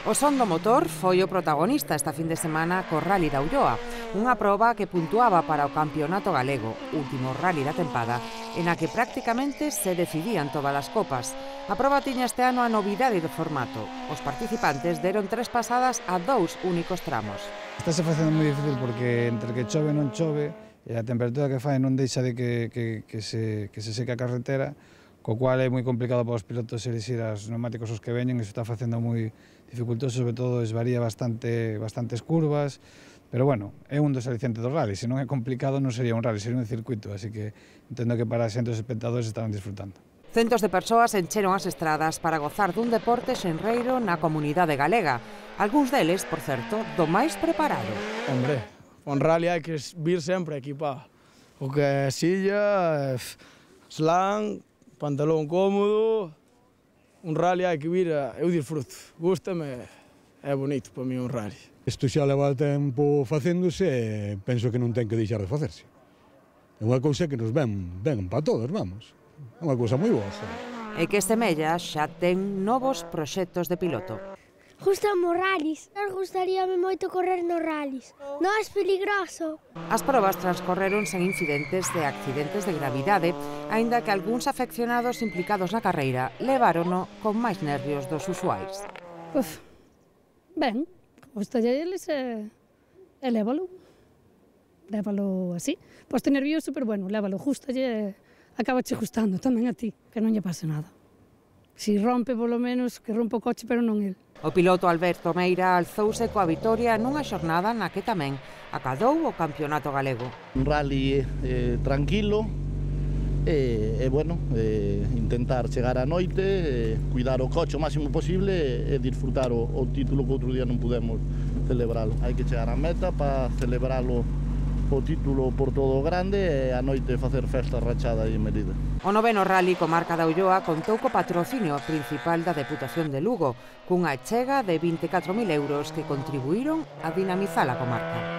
O son do motor foi o protagonista esta fin de semana co Rally da Ulloa, unha proba que puntuaba para o Campeonato Galego, último rally da tempada, en a que prácticamente se decidían todas as copas. A proba tiña este ano a novidade do formato. Os participantes deron 3 pasadas a 2 únicos tramos. Estáse facendo moi difícil porque entre que chove e non chove, e a temperatura que fai non deixa de que se seque a carretera, co cual é moi complicado para os pilotos elixir os neumáticos os que veñen, e iso está facendo moi dificultoso, sobre todo esvaría bastantes curvas, pero bueno, é un dos alicientes do rally, se non é complicado non sería un rally, sería un circuito, así que entendo que para xente os espectadores estarán disfrutando. Centos de persoas encheron as estradas para gozar dun deporte xenreiro na comunidade galega, algúns deles, por certo, do máis preparado. Hombre, un rally hai que vir sempre equipado, o que é silla, slang, pantalón cómodo. Un rally hai que vir, eu disfruto, gústame, é bonito para mí un rally. Isto xa leva tempo facéndose e penso que non ten que deixar de facerse. É unha cousa que nos ven para todos, vamos. É unha cousa moi boa. E que Semella xa ten novos proxectos de piloto. Gústame os rallies. Gustaríame moito correr nos rallies. Non é peligroso. As probas transcorreron sen incidentes de accidentes de gravidade, aínda que algúns afeccionados implicados na carreira levárono con máis nervios dos usuais. Ben, gustalle eles e lévalo así. Poste nervioso, pero bueno, lévalo, gustalle, acabache gustando tamén a ti, que non lle pase nada. Si rompe, polo menos, que rompa o coche, pero non el. O piloto Alberto Meira alzouse coa vitoria nunha xornada na que tamén acadou o Campeonato Galego. Un rally tranquilo e bueno, intentar chegar á noite, cuidar o coche o máximo posible e disfrutar o título que outro día non pudemos celebralo. Hai que chegar á meta para celebralo o título por todo o grande e a noite facer festa rachada e medida. O noveno rally comarca da Ulloa contou co patrocinio principal da Deputación de Lugo, cunha achega de 24.000 euros que contribuíron a dinamizar a comarca.